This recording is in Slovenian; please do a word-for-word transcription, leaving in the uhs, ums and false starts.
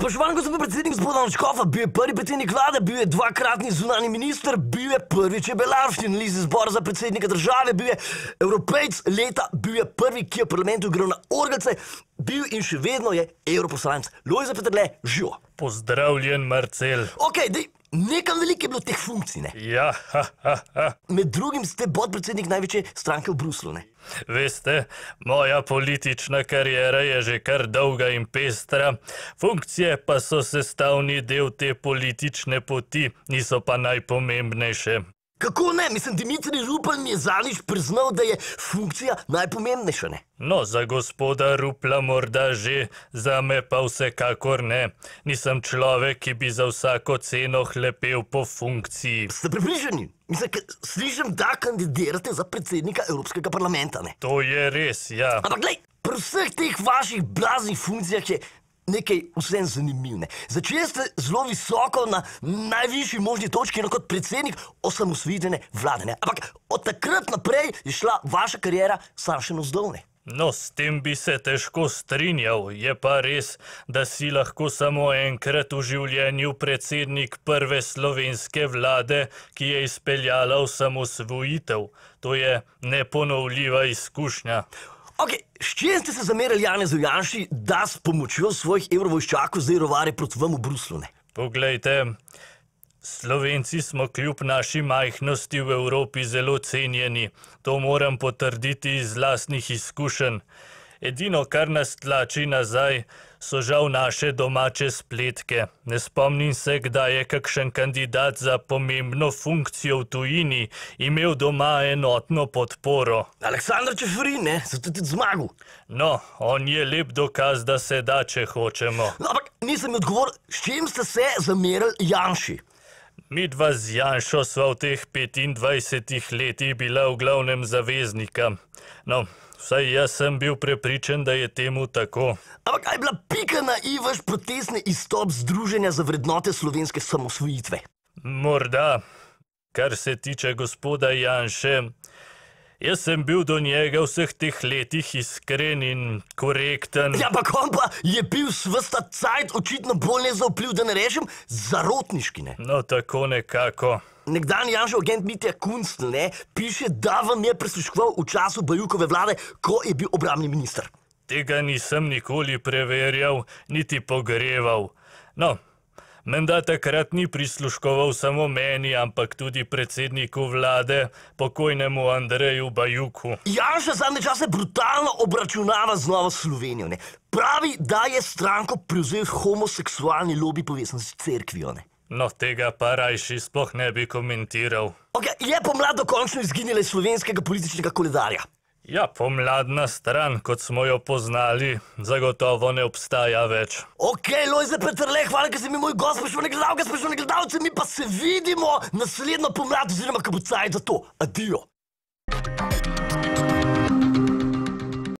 Spoštovani gospod predsednik, gospod Škofa, bil je prvi predsednik vlade, bil je dvakratni zunani minister, bil je prvi čebelar, finalist izbora za predsednika države, bil je evropejc leta, bil je prvi, ki je v parlamentu igral na orgelce, bil in še vedno je evroposlanec. Lojze Peterle, živo. Pozdravljen, Marcel. Ok, dej, nekam veliko je bilo teh funkcij, ne? Ja, ha, ha, ha. Med drugim ste podpredsednik največje stranke v Bruslu, ne? Veste, moja politična kariera je že kar dolga in pestra, funkcije pa so sestavni del te politične poti, niso pa najpomembnejše. Kako ne? Mislim, Dimitrij Rupel mi je zadnjič priznal, da je funkcija najpomembnejša, ne? No, za gospoda Rupla morda že, za me pa vsekakor ne. Nisem človek, ki bi za vsako ceno hlepel po funkciji. Ste pripričani? Mislim, ker slišim, da kandidirate za predsednika Evropskega parlamenta, ne? To je res, ja. Ampak glej, pri vseh teh vaših blaznih funkcijah je nekaj vsem zanimiv, ne? Začeli ste zelo visoko na najvišji možni točki, no, kot predsednik osamosvojitvene vlade, ne? Ampak od takrat naprej je šla vaša kariera samo še navzdol, ne? No, s tem bi se težko strinjal. Je pa res, da si lahko samo enkrat v življenju predsednik prve slovenske vlade, ki je izpeljala osamosvojitev. To je neponovljiva izkušnja. Ok, s čim ste se zamerili Janezu Janši, da s pomočjo svojih evrovojščakov zdaj rovari proti vam v Bruslu, ne? Poglejte, Slovenci smo kljub naši majhnosti v Evropi zelo cenjeni. To moram potrditi iz lastnih izkušenj. Edino, kar nas tlači nazaj, so žal naše domače spletke. Ne spomnim se, kdaj je kakšen kandidat za pomembno funkcijo v tujini imel doma enotno podporo. Aleksandar Čeferin, ne? Zato tudi zmagal. No, on je lep dokaz, da se da, če hočemo. No, ampak nisem mi odgovoril, s čim ste se zamerili Janši? Midva z Janšo sva v teh petindvajsetih letih bila v glavnem zaveznika. No, vsaj jaz sem bil prepričan, da je temu tako. Ampak kaj je bila pika na i vaš protestni izstop Združenja za vrednote slovenske samosvojitve? Morda. Kar se tiče gospoda Janše, jaz sem bil do njega vseh teh letih iskren in korekten. Ja, pa on pa je bil svesta cajt očitno bolj nezaupljiv, da ne rečem, zarotniški, ne? No, tako nekako. Nekdanji Janšev agent Mitja Kunstl, ne, piše, da vam je prisluškoval v času Bajukove vlade, ko je bil obrambni minister. Tega nisem nikoli preverjal, niti pogreval. No, menda takrat ni prisluškoval samo meni, ampak tudi predsedniku vlade, pokojnemu Andreju Bajuku. Janša zadnje čase brutalno obračunava z Novo Slovenijo, ne. Pravi, da je stranko prevzel homoseksualni lobi povezan s cerkvijo, ne. No, tega pa rajši sploh ne bi komentiral. Ok, je pomlad dokončno izginila iz slovenskega političnega koledarja? Ja, pomladna stran, kot smo jo poznali, zagotovo ne obstaja več. Ok, Lojze Peterle, hvala, ker si mi moj gost, spoštovane gledalke, spoštovane gledalce, mi pa se vidimo naslednjo pomlad, oziroma ko bo cajt za to. Adijo.